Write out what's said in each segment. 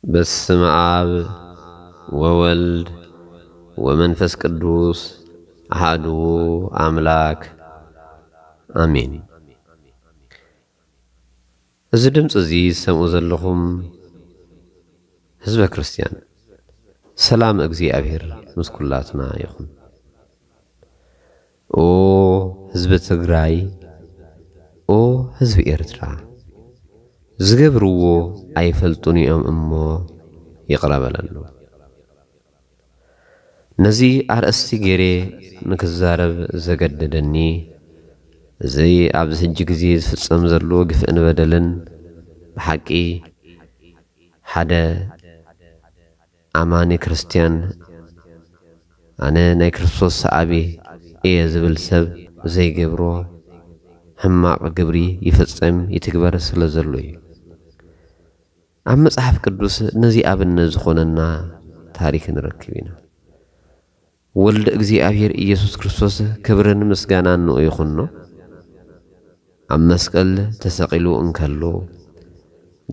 በስመ አብ ወወልድ ወመንፈስ ቅዱስ አሐዱ አምላክ አሜን። እዚ ድምፂ እዚ ዝሰምዑ ዘለኹም ህዝበ ክርስቲያን፣ ሰላም እግዚኣብሔር ምስ ኩላትና ይኹን። ኦ ህዝቢ ትግራይ፣ ኦ ህዝቢ ኤርትራ፣ ዝገብርዎ ኣይፈልጡን እዮም እሞ ይቕረ በለሉ። ነዚ ኣርእስቲ ገይረ ንክዛረብ ዘገደደኒ፣ እዚ ኣብዚ ሕጂ ግዜ ዝፍጸም ዘሎ ግፍእን በደልን ብሓቂ ሓደ ኣማኒ ክርስትያን፣ ኣነ ናይ ክርስቶስ ሰዓቢ እየ ዝብል ሰብ ዘይገብሮ ሕማቕ ግብሪ ይፍጸም ይትግበር ስለ ዘሎ እዩ። ኣብ መጽሓፍ ቅዱስ ነዚ ኣብነት ዝኾነና ታሪክ ንረክብ ኢና። ወልደ እግዚኣብሔር ኢየሱስ ክርስቶስ ክብርን ምስጋናን ንኡ ይኹኖ። ኣብ መስቀል ተሰቒሉ እንከሎ፣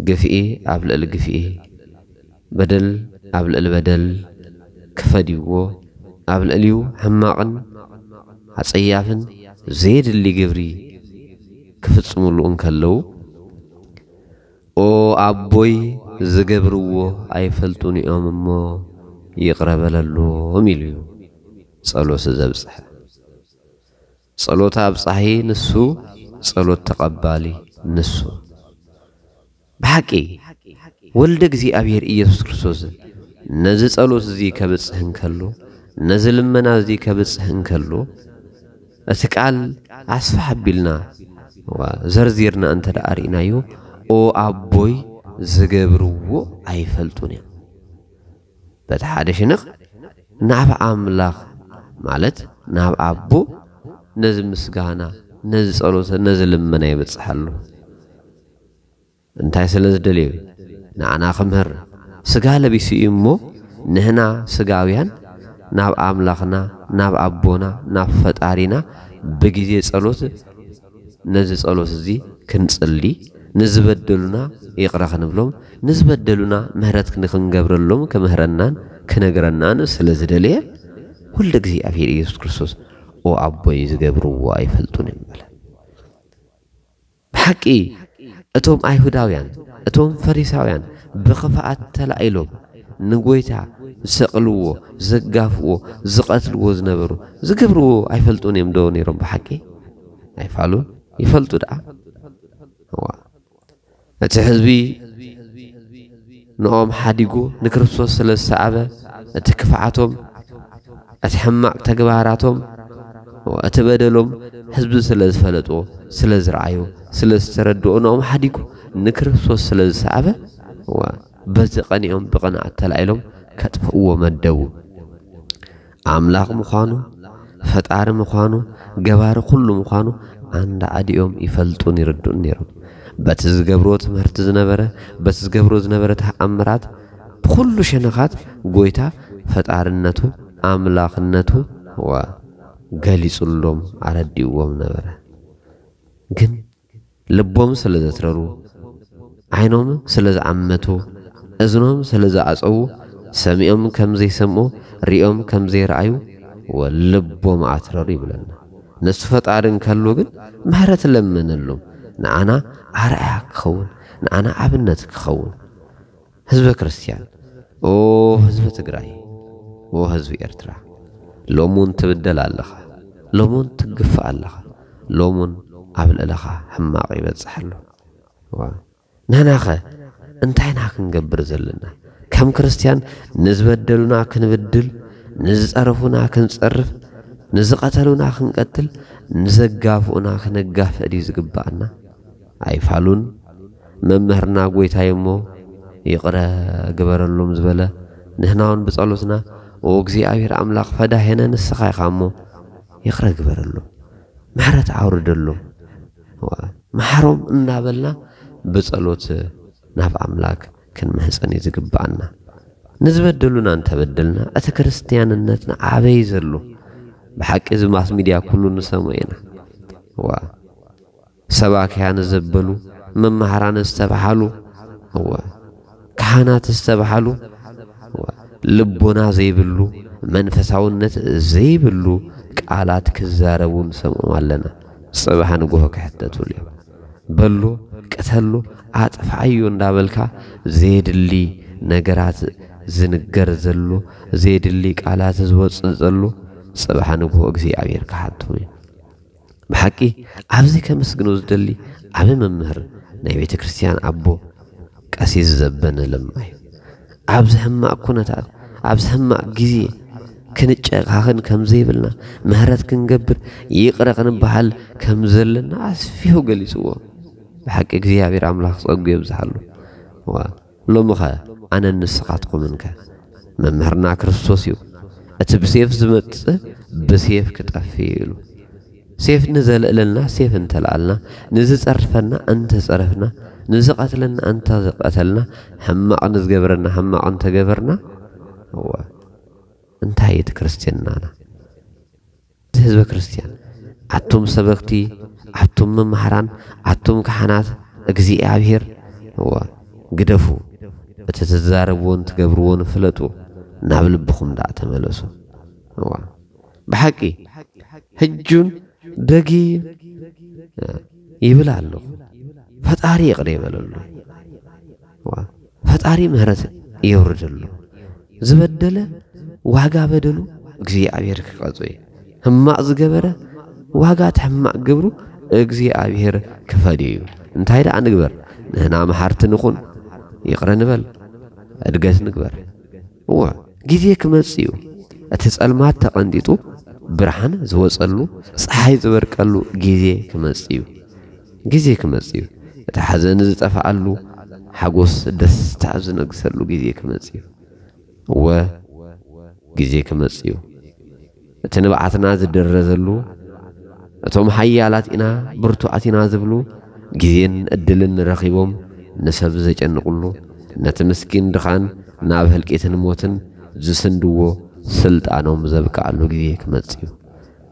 ግፍኢ ኣብ ልዕሊ ግፍኢ፣ በደል ኣብ ልዕሊ በደል ክፈድይዎ፣ ኣብ ልዕሊኡ ሕማቕን ኣጸያፍን ዘየድሊ ግብሪ ክፍጽሙሉ እንከለዉ፣ "ኦ ኣቦይ፣ ዝገብርዎ ኣይፈልጡን እዮም እሞ ይቕረ በለሎም" ኢሉ እዩ ጸሎት ዘብጽሐ። ጸሎት ኣብጻሒ ንሱ፣ ጸሎት ተቐባሊ ንሱ። ብሓቂ ወልደ እግዚኣብሔር ኢየሱስ ክርስቶስ ነዚ ጸሎት እዚ ከብጽሕ እንከሎ፣ ነዚ ልመና እዚ ከብጽሕ እንከሎ፣ እቲ ቃል ኣስፍሕ ኣቢልና፣ ዋ፣ ዘርዚርና እንተ ደኣ ርኢናዮ፣ "ኦ ኣቦይ፣ ዝገብርዎ ኣይፈልጡን እዮም።" በቲ ሓደ ሽነኽ ናብ ኣምላኽ፣ ማለት ናብ ኣቦ፣ ነዚ ምስጋና፣ ነዚ ጸሎት፣ ነዚ ልመና የብጽሓሉ። እንታይ ስለ ዝደለዩ? ንዓና ክምህር። ስጋ ለቢሱ እዩ እሞ፣ ንህና ስጋውያን ናብ ኣምላኽና፣ ናብ ኣቦና፣ ናብ ፈጣሪና ብግዜ ጸሎት፣ ነዚ ጸሎት እዚ ክንጽሊ፣ ንዝበደሉና ይቕረ ክንብሎም፣ ንዝበደሉና ምህረት ንክንገብረሎም ክምህረናን ክነግረናን ስለ ዝደለየ፣ ወልደ እግዚኣብሔር ኢየሱስ ክርስቶስ፣ "ኦ ኣቦይ፣ ዝገብርዎ ኣይፈልጡን" እዩ በለ። ብሓቂ እቶም ኣይሁዳውያን፣ እቶም ፈሪሳውያን ብኽፍኣት ተላዒሎም ንጎይታ ዝሰቕልዎ፣ ዘጋፍዎ፣ ዝቐትልዎ ዝነበሩ፣ ዝገብርዎ ኣይፈልጡን እዮም ዶ ነይሮም? ብሓቂ ኣይፋሉን? ይፈልጡ ደኣ። እዋ። እቲ ህዝቢ ንኦም ሓዲጉ ንክርስቶስ ስለ ዝሰዓበ፣ እቲ ክፍኣቶም፣ እቲ ሕማቕ ተግባራቶም፣ እቲ በደሎም ህዝቢ ስለ ዝፈለጦ፣ ስለ ዝረኣዮ፣ ስለ ዝተረድኦ፣ ንኦም ሓዲጉ ንክርስቶስ ስለ ዝሰዓበ፣ እዋ፣ በዚ ቀኒኦም ብቕንኣት ተላዒሎም ከጥፍእዎ መደቡ። ኣምላኽ ምዃኑ፣ ፈጣሪ ምዃኑ፣ ገባሪ ኩሉ ምዃኑ ኣንዳ ዓዲኦም ይፈልጡን ይርድኡን ነይሮም። በቲ ዝገብሮ ትምህርቲ ዝነበረ፣ በቲ ዝገብሮ ዝነበረ ተኣምራት፣ ብኹሉ ሸነኻት ጎይታ ፈጣርነቱ፣ ኣምላኽነቱ፣ ዋ፣ ገሊጹሎም፣ ኣረዲእዎም ነበረ። ግን ልቦም ስለ ዘትረሩ፣ ዓይኖም ስለ ዝዓመቱ፣ እዝኖም ስለ ዝዓጸዉ፣ ሰሚኦም ከም ዘይሰምዑ፣ ሪኦም ከም ዘይረኣዩ፣ ወ-፣ ልቦም ኣትረሩ ይብለና። ንሱ ፈጣሪ እንከሎ ግን ምሕረት ለመነሎም፣ ንኣና ኣርኣያ ክኸውን፣ ንኣና ኣብነት ክኸውን። ህዝበ ክርስትያን፣ ኦ ህዝቢ ትግራይ፣ ኦ ህዝቢ ኤርትራ፣ ሎሙን ትብደል ኣለኻ፣ ሎሙን ትግፋእ ኣለኻ፣ ሎሙን ኣብ ልዕለኻ ሕማቕ ይበጽሕ ኣሎ። ዋ፣ ንሕናኸ እንታይ ኢና ክንገብር ዘለና? ከም ክርስትያን ንዝበደሉና ክንብድል፣ ንዝጸረፉና ክንጸርፍ፣ ንዝቐተሉና ክንቀትል፣ ንዘጋፍኡና ክነጋፍእ ድዩ ዝግባኣና? ኣይፋሉን። መምህርና ጎይታይ እሞ ይቕረ ግበረሎም ዝበለ፣ ንሕና እውን ብጸሎትና፣ "ኦ እግዚኣብሔር ኣምላኽ ፈዳሄነ ንስኻ ኢኻ እሞ ይቕረ ግበረሎም፣ ምሕረት ኣውርደሎም፣ ዋ፣ መሓሮም" እናበልና ብጸሎት ናብ ኣምላክ ክንምሕጸን እዩ ዝግብኣና። ንዝበደሉና እንተበደልና፣ እቲ ክርስትያንነትና ኣበይ ዘሎ? ብሓቂ እዚ ማስ ሚድያ ኩሉ ንሰምዖ ኢና። ዋ፣ ሰባክያን ዘበሉ፣ መማህራን ዝተባሃሉ፣ እወ፣ ካህናት ዝተባሃሉ፣ እወ፣ ልቦና ዘይብሉ፣ መንፈሳውነት ዘይብሉ ቃላት ክዛረቡ ንሰምዖም ኣለና። ጽባሕ ንግሆ ክሕተቱሉ እዮም። በሎ፣ ቅተሎ፣ ኣጥፍኣዮ እንዳበልካ ዘየድሊ ነገራት ዝንገር ዘሎ፣ ዘየድሊ ቃላት ዝወጽእ ዘሎ፣ ጽባሕ ንግሆ እግዚኣብሔር ክሓቶም እዩ። ብሓቂ ኣብዚ ከመስግኖ ዝደሊ ዓቢ መምህር፣ ናይ ቤተ ክርስቲያን ኣቦ፣ ቀሲስ ዘበነ ለማ እዩ። ኣብዚ ሕማቕ ኩነታት፣ ኣብዚ ሕማቕ ግዜ ክንጨካኸን ከም ዘይብልና፣ ምሕረት ክንገብር፣ ይቕረ ክንበሃል ከም ዘለና ኣስፊሑ ገሊጽዎ። ብሓቂ እግዚኣብሔር ኣምላኽ ጸጉ የብዝሓሉ። እዋ፣ ሎምኸ ኣነን ንስኻትኩምንከ? መምህርና ክርስቶስ እዩ። እቲ ብሴፍ ዝመጽእ ብሴፍ ክጠፍእ እዩ ኢሉ። ሴፍ ንዘልእለና ሴፍ እንተልኣልና፣ ንዝጸርፈና እንተጸረፍና፣ ንዝቐትለና እንተዘቐተልና፣ ሕማቕ ንዝገብረና ሕማቕ እንተገበርና፣ እወ፣ እንታይ እዩ እቲ ክርስትናና? እዚ ህዝበ ክርስትያን፣ ኣቱም ሰበክቲ፣ ኣቱም መማህራን፣ ኣቱም ካህናት፣ እግዚኣብሔር፣ እወ፣ ግደፉ። እቲ ትዛረብዎን ትገብርዎን ፍለጡ፣ ናብ ልብኹም ደኣ ተመለሱ። እወ፣ ብሓቂ ሕጁን ደጊም ይብል ኣለኹ። ፈጣሪ ይቕረ ይበለሉ። እወ፣ ፈጣሪ ምህረት የውርደሉ። ዝበደለ ዋጋ በደሉ እግዚኣብሔር ክቐጾ እዩ። ሕማቕ ዝገበረ ዋጋ እቲ ሕማቕ ግብሩ እግዚኣብሔር ክፈድዮ እዩ። እንታይ ደኣ ንግበር? ንሕና መሓርቲ ንኹን፣ ይቕረ ንበል፣ እድገት ንግበር። እወ፣ ግዜ ክመጽእ እዩ። እቲ ጸልማት ተቐንጢጡ ብርሃን ዝወጸሉ፣ ጸሓይ ዝበርቀሉ ግዜ ክመጽእ እዩ። ግዜ ክመጽእ እዩ። እቲ ሓዘን ዝጠፍኣሉ፣ ሓጎስ ደስታ ዝነግሰሉ ግዜ ክመጽእ እዩ። እወ፣ ግዜ ክመጽእ እዩ። እቲ ንብዓትና ዝድረዘሉ፣ እቶም ሓያላት ኢና፣ ብርቱዓት ኢና ዝብሉ፣ ግዜን ዕድልን ረኺቦም ንሰብ ዘጨንቑሉ፣ ነቲ ምስኪን ድኻን ናብ ህልቂትን ሞትን ዝስንድዎ ስልጣኖም ዘብቅዓሉ ግዜ ክመጽእ እዩ።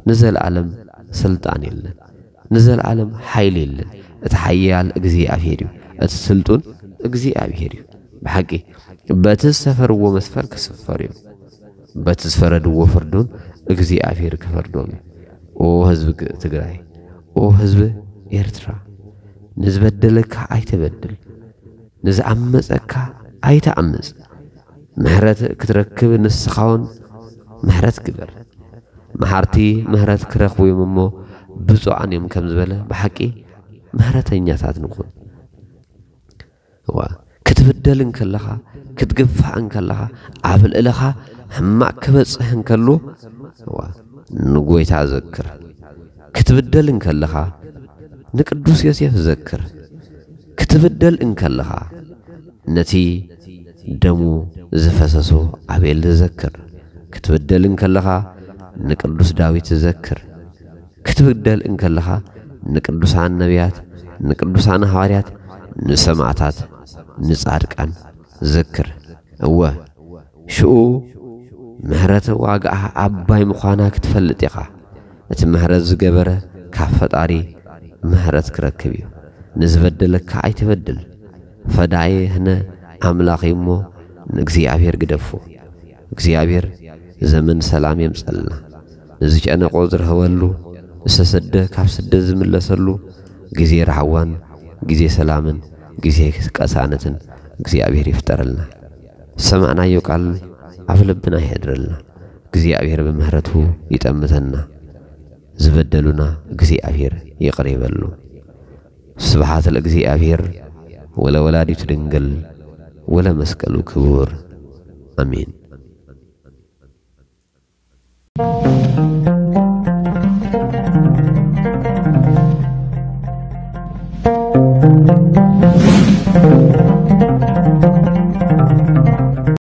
ንዘለኣለም ስልጣን የለን። ንዘለኣለም ሓይሊ የለን። እቲ ሓያል እግዚኣብሔር እዩ። እቲ ስልጡን እግዚኣብሔር እዩ። ብሓቂ በቲ ዝሰፈርዎ መስፈር ክስፈር እዩ። በቲ ዝፈረድዎ ፍርዱን እግዚኣብሔር ክፈርዶም እዩ። ኦ ህዝቢ ግ-፣ ትግራይ፣ ኦ ህዝቢ ኤርትራ፣ ንዝበደለካ ኣይተበድል፣ ንዝኣመፀካ ኣይተኣምፅ። ምሕረት ክትረክብ ንስኻውን ምሕረት ግበር። መሓርቲ ምሕረት ክረኽቡ እዮም እሞ ብፁዓን እዮም ከም ዝበለ ብሓቂ ምሕረተኛታት ንኹን። እዋ፣ ክትብደል እንከለኻ፣ ክትግፋዕ እንከለኻ፣ ኣብ ልዕለኻ ሕማቕ ክበጽሕ እንከሎ፣ እዋ፣ ንጎይታ ዘክር። ክትብደል እንከለኻ፣ ንቅዱስ ዮሴፍ ዘክር። ክትብደል እንከለኻ፣ ነቲ ደሙ ዝፈሰሶ ኣቤል ዘክር። ክትብደል እንከለኻ፣ ንቅዱስ ዳዊት ዘክር። ክትብደል እንከለኻ፣ ንቅዱሳን ነቢያት፣ ንቅዱሳን ሃዋርያት፣ ንሰማዕታት፣ ንጻድቃን ዘክር። እወ፣ ሽኡ ምሕረት ዋጋኣ ዓባይ ምዃና ክትፈልጥ ኢኻ። እቲ ምሕረት ዝገበረ ካብ ፈጣሪ ምሕረት ክረክብ እዩ። ንዝበደለካ ኣይትበድል። ፈዳዬ ህነ ኣምላኽ እዩ እሞ ንእግዚኣብሔር ግደፎ። እግዚኣብሔር ዘመን ሰላም የምጸልና። ንዝጨነቆ ዝርህወሉ፣ ዝተሰደ ካብ ስደት ዝምለሰሉ፣ ግዜ ራህዋን ግዜ ሰላምን ግዜ ቅሳነትን እግዚኣብሔር ይፍጠረልና። ዝሰማዕናዮ ቃል ኣብ ልብና ይሕድረልና። እግዚኣብሔር ብምሕረቱ ይጠምተና። ዝበደሉና እግዚኣብሔር ይቕር ይበሉ። ስብሐት ለእግዚኣብሔር ወለወላዲቱ ድንግል ወለመስቀሉ ክቡር። ኣሜን።